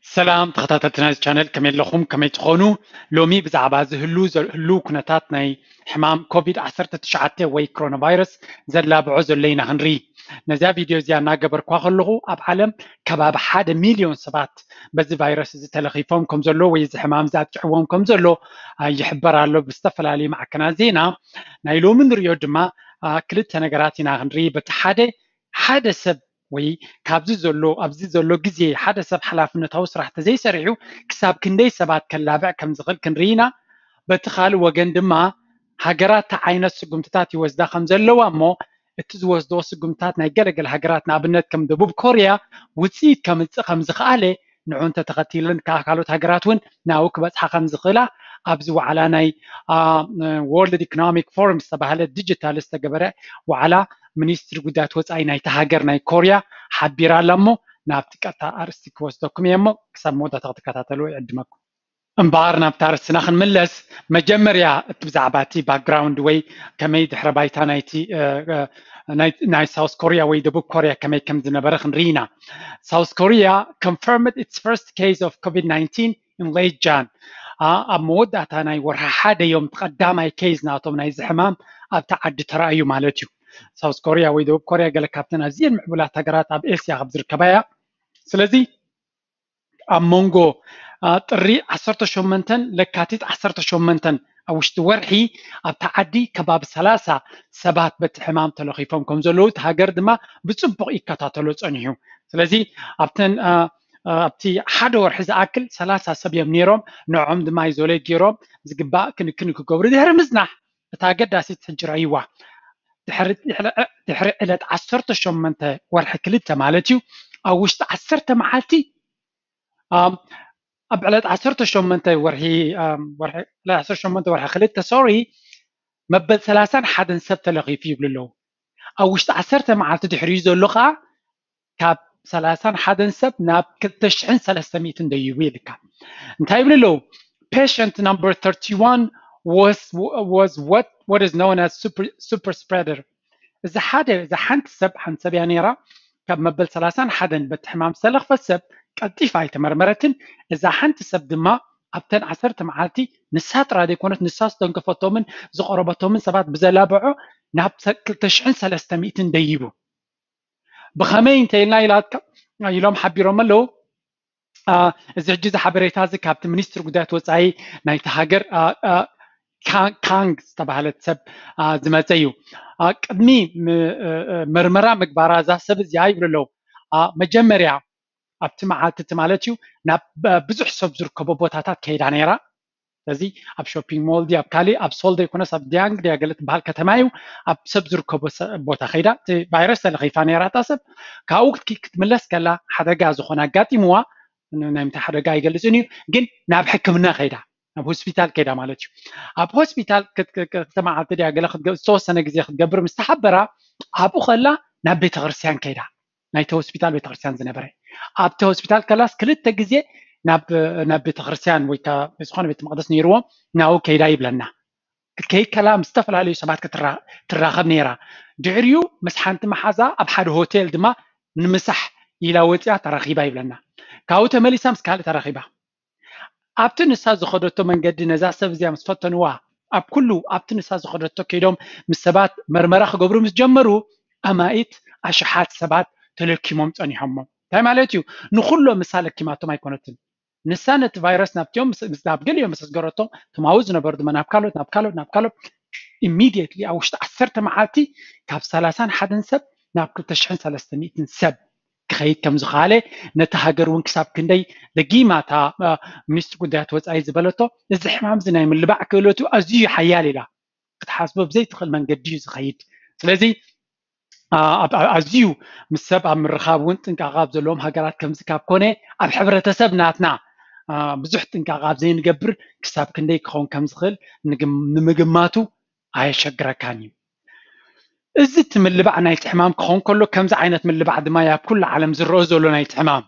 ሰላም ተኸታተልቲ ናይዚ ቻነል፣ ከመይ ኣለኹም? ከመይ ትኾኑ? ሎሚ ብዛዕባ እዚ ህሉ ዘ- ህልው ኩነታት ናይ ሕማም ኮቪድ ዓሰርተ ትሽዓተ ወይ ኮሮና ቫይረስ ዘላብዖ ዘሎ ኢና ክንርኢ። ነዚኣ ቪድዮ እዚኣ እናገበርኳ ከለኹ ኣብ ዓለም ከባቢ ሓደ ሚልዮን ሰባት በዚ ቫይረስ እዚ ተለኺፎም ከም ዘሎ ወይ እዚ ሕማም እዚ ኣጥቂዕዎም ከም ዘሎ ይሕበር ኣሎ ብዝተፈላለዩ ማዕከናት ዜና። ናይ ሎሚ ንሪኦ ድማ ክልተ ነገራት ኢና ክንርኢ። በቲ ሓደ ሓደ ሰብ ወይ ካብዚ ዘሎ ኣብዚ ዘሎ ግዜ ሓደ ሰብ ሓላፍነታዊ ስራሕ ተዘይሰሪሑ ክሳብ ክንደይ ሰባት ከላብዕ ከም ዝኽእል ክንርኢ ኢና። በቲ ካልእ ወገን ድማ ሃገራት እንታይ ዓይነት ስጉምትታት ይወስዳ ከም ዘለዋ እሞ እቲ ዝወስድኦ ስጉምትታት ናይ ገለገለ ሃገራት ንኣብነት ከም ደቡብ ኮርያ ውፅኢት ከምፅእ ከም ዝኽኣለ ንዑ እንተተኸቲለን ከዓ ካልኦት ሃገራት እውን ናብኡ ክበፅሓ ከም ዝኽእላ ኣብዚ ዋዕላ ናይ ወርልድ ኢኮኖሚክ ፎረም ዝተባሃለ ዲጂታል ዝተገበረ ዋዕላ ሚኒስትሪ ጉዳያት ወፃኢ ናይቲ ሃገር ናይ ኮርያ ሓቢራ ኣላ እሞ ናብቲ ቀጥታ ኣርእስቲ ክወስደኩም እየ እሞ ክሳብ መወዳእታ ክትከታተሉ ይዕድመኩም። እምበኣር ናብታ ኣርእስትና ክንምለስ መጀመርያ እቲ ብዛዕባ እቲ ባክግራውንድ ወይ ከመይ ድሕረ ባይታ ናይቲ ናይ ሳውስ ኮርያ ወይ ደቡብ ኮርያ ከመይ ከም ዝነበረ ክንርኢ ኢና። South Korea confirmed its first case of COVID nineteen in late Jan. ኣብ መወዳእታ ናይ ወርሒ ሓደ እዮም ቀዳማይ ኬዝ ናቶም ናይዚ ሕማም ኣብቲ ዓዲ ተራእዩ ማለት እዩ። ሳውስ ኮርያ ወይ ደቡብ ኮርያ ገለ ካብተን ኣዝየን ምዕቡላት ሃገራት ኣብ ኤስያ ካብ ዝርከባ እያ። ስለዚ ኣብ መንጎ ጥሪ ዓሰርተ ሸሞንተን ለካቲት ዓሰርተ ሸሞንተን ኣብ ውሽጢ ወርሒ ኣብታ ዓዲ ከባቢ ሰላሳ ሰባት በቲ ሕማም ተለኺፎም ከም ዘለዉ እቲ ሃገር ድማ ብፅቡቕ ይከታተሎ ፀኒሑ። ስለዚ ኣብተን ኣብቲ ሓደ ወርሒ ዝኣክል ሰላሳ ሰብ እዮም ነይሮም። ንዖም ድማ ይዞሌት ገይሮም ዝግባእ ክንክን ክገብሩ ድሕሪ ምዝናሕ እታ ኣገዳሲት ሕጂ ረእይዋ። ድሕሪ ዕለት ዓሰርተ ሸሞንተ ወርሒ ክልተ ማለት እዩ ኣብ ውሽጢ ዓሰርተ መዓልቲ ኣብ ዕለት ዓሰርተ ሸሞንተ ወርሒ ዓሰርተ ሸሞንተ ወርሒ ክልተ ሶሪ መበል ሰላሳን ሓደን ሰብ ተለኺፉ ይብሉ ኣለዉ። ኣብ ውሽጢ ዓሰርተ መዓልቲ ድሕሪኡ ዘሎ ከዓ ካብ ሰላሳን ሓደን ሰብ ናብ ክልተ ሽሕን ሰለስተ ሚእትን ደይቡ ይልካ። እንታይ ይብሉ ኣለዉ? Patient number thirty-one was was what what is known as super super spreader። እዚ ሓደ እዛ ሓንቲ ሰብ ሓንቲ ሰብ እያ ነይራ ካብ መበል ሰላሳን ሓደን በቲ ሕማም ዝተለኽፈት ሰብ ቀልጢፋ ኣይተመርመረትን። እዛ ሓንቲ ሰብ ድማ ኣብተን ዓሰርተ መዓልቲ ንሳ ጥራ ዘይኮነት ንሳ ዝተንከፈቶምን ዝቐረበቶምን ሰባት ብዘላብዖ ናብ ክልተ ሽሕን ሰለስተ ሚእትን ደይቡ። ብኸመይ እንተ ኢልና ኢሎም ሓቢሮም ኣለዉ። እዚ ሕጂ እዚ ሓበሬታ እዚ ካብቲ ሚኒስትሪ ጉዳያት ወፃኢ ናይቲ ሃገር ካንግ ዝተባሃለት ሰብ ዝመፀ እዩ። ቅድሚ ምርመራ ምግባራ እዛ ሰብ እዚኣ ይብሉ ኣለዉ መጀመርያ ኣብቲ መዓልቲ እቲ ማለት እዩ ናብ ብዙሕ ሰብ ዝርከቦ ቦታታት ከይዳ ነይራ። ስለዚ ኣብ ሾፒንግ ሞል ድያ ኣብ ካሊእ ኣብ ሶል ዘይኮነስ ኣብ ዲያንግ ድያ ገለ ትበሃል ከተማ እዩ ኣብ ሰብ ዝርከቦ ቦታ ከይዳ እቲ ቫይረስ ተለኺፋ ነይራ እታ ሰብ። ካብኡ ክትምለስ ከላ ሓደጋ ዝኾነ ኣጋጢምዋ። ናይ ምንታይ ሓደጋ ኣይገልፅን እዩ ግን ናብ ሕክምና ከይዳ ናብ ሆስፒታል ከይዳ ማለት እዩ። ኣብ ሆስፒታል ክልተ መዓልቲ ድያ ገለ ዝተወሰነ ግዜ ክትገብር ምስ ተሓበራ ኣብኡ ከላ ናብ ቤተክርስትያን ከይዳ ናይቲ ሆስፒታል ቤተክርስትያን ዝነበረ ኣብቲ ሆስፒታል ከላስ ክልተ ግዜ ናብ ቤተክርስትያን ወይ ዝኾነ ቤተ መቅደስ ነይርዎም ናብኡ ከይዳ ይብለና። ክትከይድ ከላ ምስ ዝተፈላለዩ ሰባት ትራኸብ ነይራ። ድሕሪኡ ምስ ሓንቲ መሓዛ ኣብ ሓደ ሆቴል ድማ ንምሳሕ ኢላ ወፂኣ ተራኺባ ይብለና። ካብኡ ተመሊሳ ምስ ካልእ ተራኺባ ኣብቲ ንሳ ዝኸደቶ መንገዲ ነዛ ሰብ እዚኣ ምስ ፈተንዋ ኣብ ኩሉ ኣብቲ ንሳ ዝኸደቶ ከይዶም ምስ ሰባት መርመራ ክገብሩ ምስ ጀመሩ ኣማኢት ኣሽሓት ሰባት ተለኪሞም ፀኒሖሞ። እንታይ ማለት እዩ? ንኩሎም ንሳ ለኪማቶም ኣይኮነትን። ንሳ ነቲ ቫይረስ ናብቲኦም ናብ ገሊኦም ምስ ኣስገረቶም እቶም ኣብኡ ዝነበሩ ድማ ናብ ካልኦት ናብ ካልኦት ናብ ካልኦት ኢሚድየትሊ ኣብ ውሽጢ ዓሰርተ መዓልቲ ካብ ሰላሳን ሓደን ሰብ ናብ ክልተ ሽሕን ሰለስተ ሚእትን ሰብ ክኸይድ ከም ዝኸኣለ ነቲ ሃገር እውን ክሳብ ክንደይ ደጊማ እታ ሚኒስትሪ ጉዳያት ወፃኢ ዝበለቶ እዚ ሕማም እዚ ናይ ምልባዕ ክእለቱ ኣዝዩ ሓያል ኢላ ክትሓስቦ ብዘይትኽእል መንገዲ እዩ ዝኸይድ። ስለዚ ኣዝዩ ምስ ሰብ ኣብ ምርኻብ እውን ጥንቃቐ ኣብ ዘለዎም ሃገራት ከምዚ ካብ ኮነ ኣብ ሕብረተሰብ ናትና ብዙሕ ጥንቃቐ ኣብ ዘይንገብር ክሳብ ክንደይ ክኸውን ከም ዝኽእል ንምግማቱ ኣየሸግረካን እዩ። እዚ እቲ ምልባዕ ናይቲ ሕማም ክኸውን ከሎ ከምዚ ዓይነት ምልባዕ ድማ ኣብ ኩሉ ዓለም ዝረኦ ዘሎ ናይቲ ሕማም።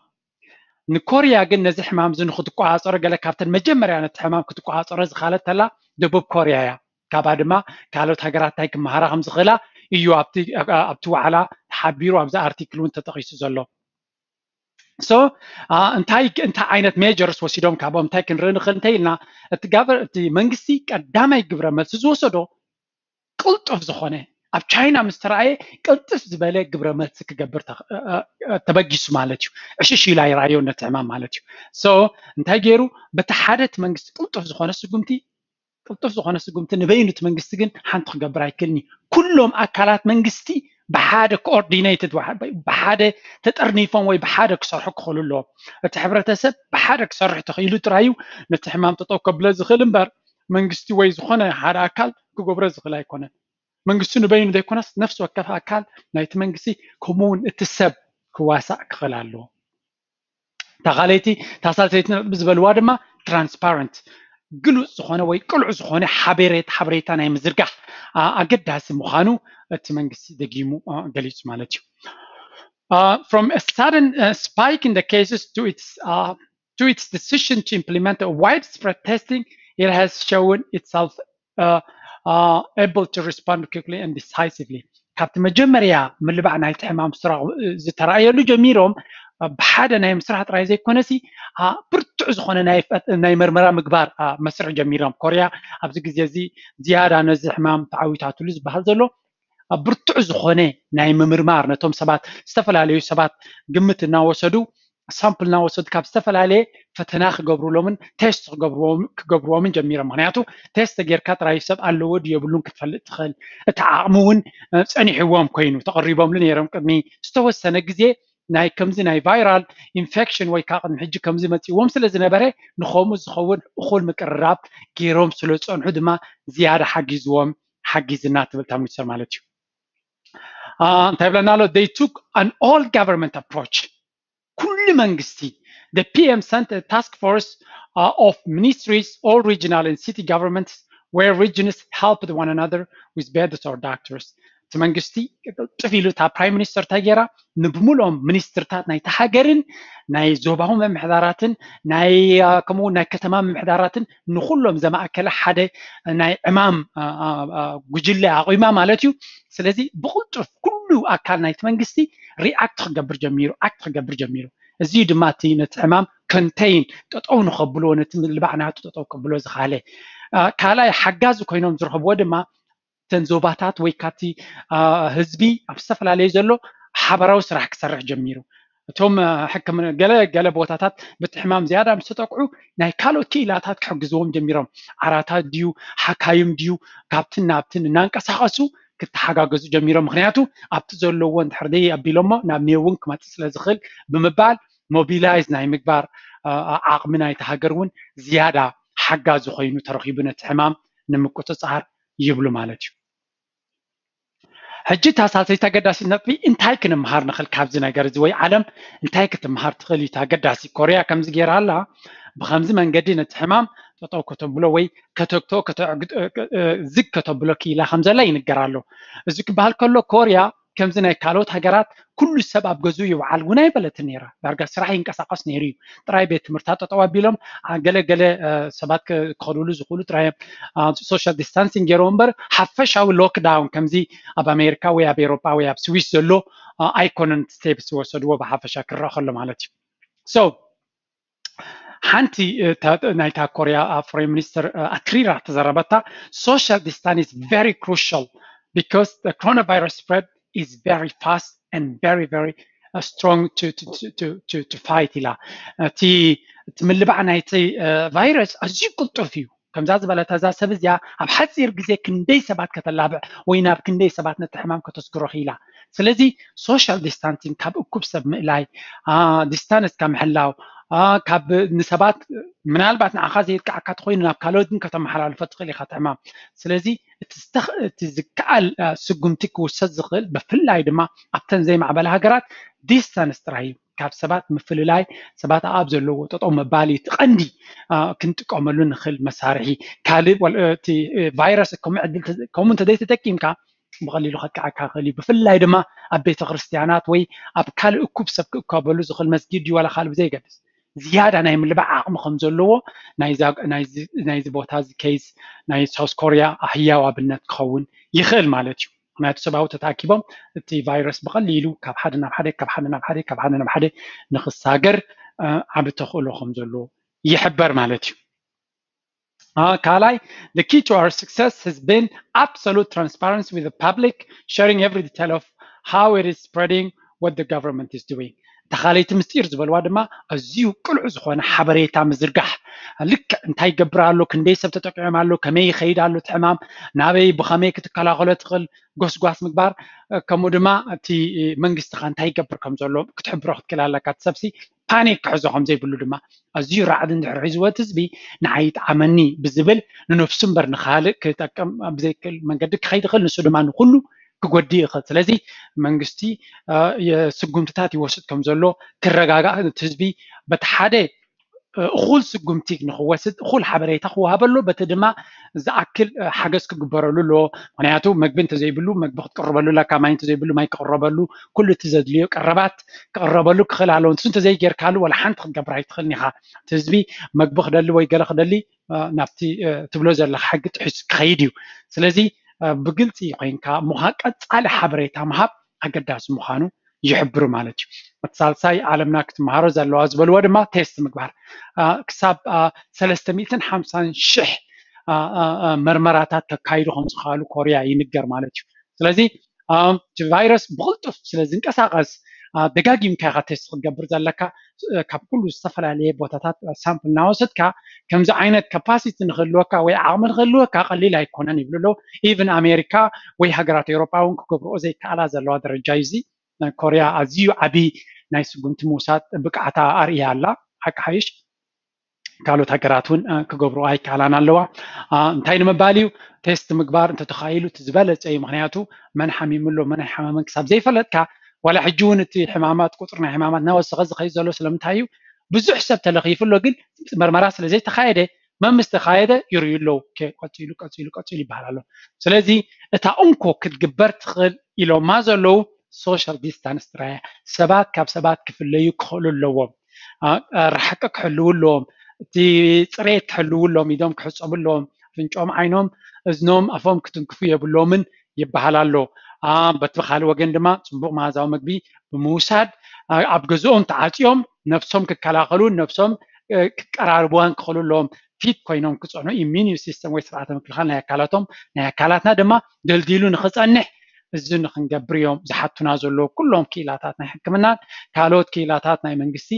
ንኮርያ ግን ነዚ ሕማም እዚ ንክትቆፃፀሮ ገለ ካብተን መጀመርያ ነቲ ሕማም ክትቆፃፀሮ ዝኻለት ተላ ደቡብ ኮርያ እያ። ካብኣ ድማ ካልኦት ሃገራት እንታይ ክመሃራ ከም ዝኽእላ እዩ ኣብቲ ዋዕላ ተሓቢሩ ኣብዚ ኣርቲክል እውን ተጠቒሱ ዘሎ። so እንታይ እንታይ ዓይነት measures ወሲዶም ካብኦም እንታይ ክንርኢ ንኽእል እንተ ኢልና፣ እቲ ጋቨር እቲ መንግስቲ ቀዳማይ ግብረ መልሲ ዝወሰዶ ቅልጡፍ ዝኾነ፣ ኣብ ቻይና ምስ ተረኣየ ቅልጥፍ ዝበለ ግብረ መልሲ ክገብር ተበጊሱ ማለት እዩ። ዕሽሽ ኢሉ ኣይረኣዮ ነቲ ሕማም ማለት እዩ። so እንታይ ገይሩ? በቲ ሓደ እቲ መንግስቲ ቅልጡፍ ዝኾነ ስጉምቲ ቅልጡፍ ዝኾነ ስጉምቲ ንበይኑ እቲ መንግስቲ ግን ሓንቲ ክገብር ኣይክእልን እዩ። ኩሎም ኣካላት መንግስቲ ብሓደ coordinated ብሓደ ተጠርኒፎም ወይ ብሓደ ክሰርሑ ክኽእሉ ኣለዎም። እቲ ሕብረተሰብ ብሓደ ክሰርሕ ተኽኢሉ ጥራይ እዩ ነቲ ሕማም ጠጠው ከብሎ ዝኽእል እምበር መንግስቲ ወይ ዝኾነ ሓደ ኣካል ክገብሮ ዝኽእል ኣይኮነን። መንግስቲ ንበይኑ ዘይኮነስ ነፍሲ ወከፍ ኣካል ናይቲ መንግስቲ ከምኡ እውን እቲ ሰብ ክዋሳእ ክኽእል ኣለዎ። ተኻለይቲ ታሳልሰይቲ ነጥቢ ዝበልዋ ድማ transparent ግሉፅ ዝኾነ ወይ ቅሉዕ ዝኾነ ሓበሬት ሓበሬታ ናይ ምዝርጋሕ ኣገዳሲ ምዃኑ እቲ መንግስቲ ደጊሙ ገሊፁ ማለት እዩ። From a sudden spike in the cases to its to its decision to implement a widespread testing, it has shown itself able to respond quickly and decisively. ካብቲ መጀመርያ ምልባዕ ናይቲ ሕማም ዝተረኣየሉ ጀሚሮም ብሓደ ናይ ምስራሕ ጥራይ ዘይኮነሲ ብርቱዕ ዝኾነ ናይ መርመራ ምግባር መስርሕ ጀሚሮም። ኮርያ ኣብዚ ግዜ እዚ ዝያዳ ነዚ ሕማም ተዓዊታትሉ ዝበሃል ዘሎ ብርቱዕ ዝኾነ ናይ ምምርማር ነቶም ሰባት ዝተፈላለዩ ሰባት ግምት እናወሰዱ ሳምፕል እናወሰዱ ካብ ዝተፈላለየ ፈተና ክገብሩሎምን ቴስት ክገብርዎምን ጀሚሮም። ምክንያቱ ቴስት ጌርካ ጥራይ ሰብ ኣለዎ ድዩ የብሉን ክትፈልጥ ትኽእል። እቲ ዓቕሚ እውን ፀኒሕዎም ኮይኑ ተቐሪቦምሉ ነይሮም ቅድሚ ዝተወሰነ ግዜ ናይ ከምዚ ናይ ቫይራል ኢንፌክሽን ወይ ከዓ ቅድሚ ሕጂ ከምዚ መፂዎም ስለ ዝነበረ ንኸምኡ ዝኸውን እኹል ምቅርራብ ገይሮም ስለ ዝፀንሑ ድማ ዝያዳ ሓጊዝዎም ሓጊዝና ትብል እታ ሚኒስተር ማለት እዩ። እንታይ ብለና ኣሎ? They took an all government approach። ኩሉ መንግስቲ the P M sent a task force of ministries, all regional and city governments where regions helped one another with beds or doctors. እቲ መንግስቲ ቅልጥፍ ኢሉ እታ ፕራይም ሚኒስተር እንታይ ገይራ? ንብሙሉኦም ሚኒስትርታት ናይቲ ሃገርን ናይ ዞባዊ ምምሕዳራትን ናይ ከምኡ ናይ ከተማ ምምሕዳራትን ንኩሎም ዘማእከለ ሓደ ናይ ዕማም ጉጅለ ኣቑማ ማለት እዩ። ስለዚ ብቕልጡፍ ኩሉ ኣካል ናይቲ መንግስቲ ሪኣክት ክገብር ጀሚሩ፣ ኣክት ክገብር ጀሚሩ። እዚ ድማ እቲ ነቲ ዕማም ኮንቴይን ጠጠው ንኸብልዎ ነቲ ምልባዕ ናቱ ጠጠው ከብሎ ዝኻለ ካልኣይ ሓጋዚ ኮይኖም ዝረኸብዎ ድማ እተን ዞባታት ወይ ካብቲ ህዝቢ ኣብ ዝተፈላለዩ ዘሎ ሓበራዊ ስራሕ ክሰርሕ ጀሚሩ። እቶም ሕክምና ገለ ገለ ቦታታት በቲ ሕማም ዝያዳ ምስ ተጠቅዑ ናይ ካልኦት ክኢላታት ክሕግዝዎም ጀሚሮም። ዓራታት ድዩ ሓካይም ድዩ ካብትን ናብትን እናንቀሳቐሱ ክተሓጋገዙ ጀሚሮም። ምክንያቱ ኣብቲ ዘለዎ እንድሕር ደይ ኣቢሎሞ ናብ ኔው እውን ክመፅእ ስለ ዝኽእል ብምባል ሞቢላይዝ ናይ ምግባር ዓቕሚ ናይቲ ሃገር እውን ዝያዳ ሓጋዚ ኮይኑ ተረኺቡ ነቲ ሕማም ንምቁፅፃር ይብሉ ማለት እዩ። ሕጂ እታ ሳልሰይቲ ኣገዳሲት ነጥቢ እንታይ ክንምሃር ንኽእል ካብዚ ነገር እዚ ወይ ዓለም እንታይ ክትምሃር ትኽእል እዩ? ኣገዳሲ ኮርያ ከምዚ ገይራ ኣላ ብከምዚ መንገዲ ነቲ ሕማም ጠጠው ከተብሎ ወይ ከተግቶ ዝግ ከተብሎ ክኢላ ከም ዘላ ይንገር ኣሎ። እዚ ክበሃል ከሎ ኮርያ ከምዚ ናይ ካልኦት ሃገራት ኩሉ ሰብ ኣብ ገዝኡ ይውዓል እውን ኣይበለትን ነይራ። ዳርጋ ስራሕ ይንቀሳቐስ ነይሩ እዩ። ጥራይ ቤት ትምህርታት ጠጠው ኣቢሎም ገለ ገለ ሰባት ክኸድሉ ዝኽእሉ ጥራይ ሶሻል ዲስታንሲንግ ገይሮም እምበር ሓፈሻዊ ሎክዳውን ከምዚ ኣብ ኣሜሪካ ወይ ኣብ ኤሮጳ ወይ ኣብ ስዊስ ዘሎ ኣይኮነን ስቴፕስ ዝወሰድዎ ብሓፈሻ ክረአ ከሎ ማለት እዩ። ሶ ሓንቲ ናይታ ኮርያ ፎሬን ሚኒስትር ኣትሪራ ተዘረበታ social distance is very crucial because the coronavirus spread is very fast and very very strong to fight ኢላ። እቲ ምልባዕ ናይቲ ቫይረስ ኣዝዩ ቅልጡፍ እዩ። ከምዛ ዝበለት እዛ ሰብ እዚኣ ኣብ ሓፂር ግዜ ክንደይ ሰባት ከተላብዕ ወይ ናብ ክንደይ ሰባት ነቲ ሕማም ከተስግሮ ክኢላ። ስለዚ ሶሻል ዲስታንሲንግ ካብ እኩብ ሰብ ምእላይ፣ ዲስታንስ ካብ ምሕላው፣ ካብ ንሰባት ምናልባት ንዓኻ ዘየጥቃዓካ ተኮይኑ ናብ ካልኦት ግን ከተመሓላልፎ ትኽእል ኢኻ እቲ ሕማም። ስለዚ እቲ ዝከኣል ስጉምቲ ክውሰድ ዝኽእል ብፍላይ ድማ ኣብተን ዘይማዕበላ ሃገራት ዲስታንስ ጥራይ እዩ። ካብ ሰባት ምፍልላይ ሰባት ኣብ ዘለዎ ጠጠው ምባል እዩ እቲ ቀንዲ ክንጥቀመሉ ንኽእል መሳርሒ። ካልእ እቲ ቫይረስ ከምኡ ዕድል ከምኡ እንተዘይተጠቂምካ ብቐሊሉ ከጥቅዓካ ይኽእል እዩ። ብፍላይ ድማ ኣብ ቤተ ክርስቲያናት ወይ ኣብ ካልእ እኩብ ሰብ ክእከበሉ ዝኽእል መስጊድ ድዩ ዋላ ካልእ ብዘይገድስ ዝያዳ ናይ ምልባዕ ዓቕሚ ከም ዘለዎ ናይዚ ቦታ እዚ ኬዝ ናይ ሳውስ ኮርያ ህያው ኣብነት ክኸውን ይኽእል ማለት እዩ። ምክንያቱ ሰብኣዊ ተታኪቦም እቲ ቫይረስ ብቐሊሉ ካብ ሓደ ናብ ሓደ ካብ ሓደ ናብ ሓደ ካብ ሓደ ናብ ሓደ ንክሳገር ዓቢ ተኽእሎ ከም ዘሎ ይሕበር ማለት እዩ። ካልኣይ, the key to our success has been absolute transparency with the public, sharing every detail of how it is spreading, what the government is doing. ተኻለይቲ ምስጢር ዝበልዋ ድማ ኣዝዩ ቅሉዕ ዝኾነ ሓበሬታ ምዝርጋሕ፣ ልክዕ እንታይ ይገብር ኣሎ፣ ክንደይ ሰብ ተጠቂዖም ኣሎ፣ ከመይ ይኸይድ ኣሎ እቲ ሕማም፣ ናበይ ብኸመይ ክትከላኸሎ ትኽእል፣ ጎስጓስ ምግባር፣ ከምኡ ድማ እቲ መንግስቲ ከ እንታይ ይገብር ከም ዘሎ ክትሕብሮ ክትክእል ኣለካ። እቲ ሰብሲ ፓኒክ ክሕዞ ከም ዘይብሉ ድማ፣ ኣዝዩ ራዕዲ እንድሕር ሒዝዎ እቲ ህዝቢ ንዓይ ይጥዓመኒ ብዝብል ንነፍሱ እምበር ንኻልእ ክጠቅም ብዘይክእል መንገዲ ክኸይድ ይኽእል፣ ንሱ ድማ ንኩሉ ክጎድእ ይኽእል። ስለዚ መንግስቲ ስጉምትታት ይወስድ ከም ዘሎ ክረጋጋእ፣ እቲ ህዝቢ በቲ ሓደ እኹል ስጉምቲ ንክወስድ እኹል ሓበሬታ ክወሃበሉ፣ በቲ ድማ ዝኣክል ሓገዝ ክግበረሉ ኣለዎ። ምክንያቱ መግቢ እንተዘይብሉ መግቢ ክትቅርበሉ ኣለካ፣ ማይ እንተዘይብሉ ማይ ክቅረበሉ፣ ኩሉ እቲ ዘድልዮ ቀረባት ክቅረበሉ ክኽእል ኣለዎ። ንሱ እንተዘይጌርካሉ ዋላ ሓንቲ ክትገብር ኣይትኽእልን ኢኻ። እቲ ህዝቢ መግቢ ክደሊ ወይ ገለ ክደሊ ናብቲ ትብሎ ዘለካ ሕጊ ጥሒሱ ክኸይድ እዩ። ስለዚ ብግልፂ ኮይንካ ምሃ ቀፃሊ ሓበሬታ ምሃብ ኣገዳሲ ምዃኑ ይሕብሩ ማለት እዩ። እቲ ሳልሳይ ዓለምና ክትመሃሮ ዘለዋ ዝበልዎ ድማ ቴስት ምግባር፣ ክሳብ ሰለስተ ሚእትን ሓምሳን ሽሕ መርመራታት ከካይዱ ከም ዝኽኣሉ ኮርያ ይንገር ማለት እዩ። ስለዚ እቲ ቫይረስ ብቕልጡፍ ስለ ዝንቀሳቐስ ደጋጊምካ ኢኻ ቴስት ክትገብር ዘለካ። ካብ ኩሉ ዝተፈላለየ ቦታታት ሳምፕል እናወሰድካ ከምዚ ዓይነት ካፓሲቲ ንክህልወካ ወይ ዓቕሚ ንክህልወካ ቀሊል ኣይኮነን ይብሉ ኣለዉ። ኢቭን ኣሜሪካ ወይ ሃገራት ኤውሮጳ እውን ክገብርኦ ዘይከኣላ ዘለዋ ደረጃ እዩ እዚ። ኮርያ ኣዝዩ ዓቢ ናይ ስጉምቲ ምውሳድ ብቅዓታ ኣርእያ ኣላ። ሓቂ ሓይሽ ካልኦት ሃገራት እውን ክገብርኦ ኣይከኣላን ኣለዋ። እንታይ ንምባል እዩ፣ ቴስት ምግባር እንተተኻኢሉ እቲ ዝበለፀ እዩ። ምክንያቱ መን ሓሚሙ ኣሎ መን ኣይሓመመን ክሳብ ዘይፈለጥካ፣ ዋላ ሕጂ እውን እቲ ሕማማት ቁፅሪ ናይ ሕማማት እናወሰኸ ዝኸይድ ዘሎ ስለምንታይ እዩ፣ ብዙሕ ሰብ ተለኺፉ ኣሎ፣ ግን መርመራ ስለ ዘይተኻየደ መምስ ተኻየደ ይርእዩ ኣለዉ። ቀፂሉ ቀፂሉ ቀፂሉ ይበሃል ኣሎ። ስለዚ እታ እንኮ ክትግበር ትኽእል ኢሎማ ዘለዉ ሶሻል ዲስታንስ ጥራይ እያ። ሰባት ካብ ሰባት ክፍለዩ ክኽእሉ ኣለዎም። ርሕቂ ክሕልዉ ኣለዎም። እቲ ፅሬት ክሕልዉ ኣለዎም። ኢዶም ክሕፀቡ ኣለዎም። ኣፍንጮም ዓይኖም እዝኖም ኣፎም ክትንክፉ የብሎምን ይበሃል ኣሎ። በቲ ካልእ ወገን ድማ ፅቡቕ መሃዛዊ ምግቢ ብምውሳድ ኣብ ገዝኦም ተዓፅዮም ነብሶም ክከላኸሉን ነብሶም ክቀራርብዋን ክኽእሉ ኣለዎም። ፊት ኮይኖም ክፀንሑ ኢሚኒ ሲስተም ወይ ስርዓተ ምክልኻል ናይ ኣካላቶም ናይ ኣካላትና ድማ ደልዲሉ ንክፀንሕ እዚ ንክንገብር እዮም ዝሓቱና ዘለዉ ኩሎም ክኢላታት ናይ ሕክምናን ካልኦት ክኢላታት ናይ መንግስቲ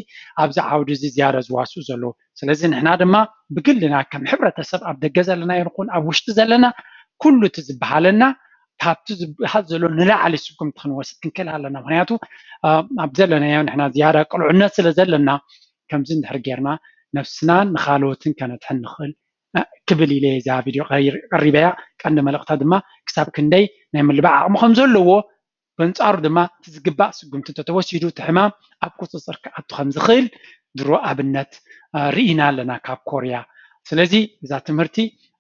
ኣብዚ ዓውዲ እዚ ዝያዳ ዝዋስኡ ዘለዉ። ስለዚ ንሕና ድማ ብግልና ከም ሕብረተሰብ ኣብ ደገ ዘለና ይኹን ኣብ ውሽጢ ዘለና ኩሉ እቲ ዝበሃለና ካብቲ ዝበሃል ዘሎ ንላዕሊ ስጉምቲ ክንወስድ ክንክእል ኣለና። ምክንያቱ ኣብ ዘለናዮ ንሕና ዝያዳ ቅልዑነት ስለ ዘለና ከምዚ እንድሕር ጌርና ነብስናን ንኻልኦትን ከነድሕን ንኽእል ክብል ኢለ እዛ ቪድዮ ቀሪበያ። ቀንዲ መልእኽታ ድማ ክሳብ ክንደይ ናይ ምልባዕ ዓቕሚ ከም ዘለዎ በንጻሩ ድማ እቲ ዝግባእ ስጉምቲ እንተተወሲዱ እቲ ሕማም ኣብ ቁፅፅር ክኣቱ ከም ዝኽእል ድሮ ኣብነት ርኢና ኣለና ካብ ኮርያ። ስለዚ እዛ ትምህርቲ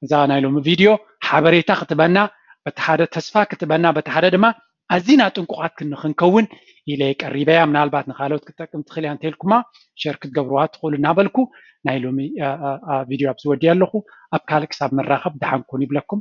እዛ ናይ ሎሚ ቪድዮ ሓበሬታ ክትበና በቲ ሓደ ተስፋ ክትበና በቲ ሓደ ድማ ኣዚና ጥንቁቓት ክንከውን ኢለ ቀሪበያ። ምናልባት ንካልኦት ክትጠቅም ትኽእል እያ እንተልኩማ ሸር ክትገብርዋ ትኽእሉ እናበልኩ ናይ ሎሚ ቪድዮ ኣብዚ ወዲያ ኣለኹ። ኣብ ካልእ ክሳብ ንራኸብ ደሓን ኩኑ ይብለኩም።